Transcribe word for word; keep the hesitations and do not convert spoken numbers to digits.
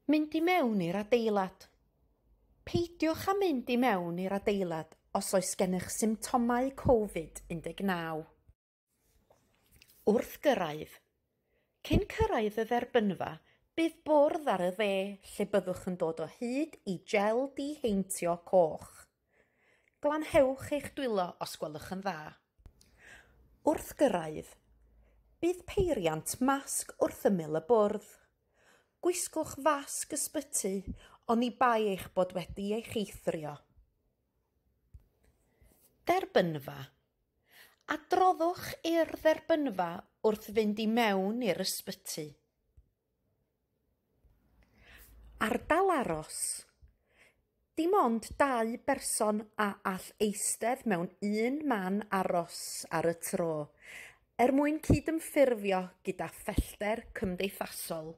Mynd i mewn i'r adeilad. Peidiwch â mynd i mewn i'r adeilad os oes gennych symptomau Covid un deg naw. Wrth gyrraedd. Cyn cyrraedd y dderbynfa, bydd bwrdd ar y dde lle byddwch yn dod o hyd i gel diheintio coch. Glanhewch eich dwylo os gwelwch yn dda. Wrth gyrraedd, bydd peiriant masg wrth ymyl y bwrdd. Gwisgwch fasg ysbyty, oni bai eich bod wedi eich eithrio. Derbynfa. Adroddwch i'r dderbynfa wrth fynd i mewn i'r ysbyty. Ardal aros. Dim ond dau berson a all eistedd mewn un man aros ar y tro, er mwyn cydymffurfio gyda phellter cymdeithasol.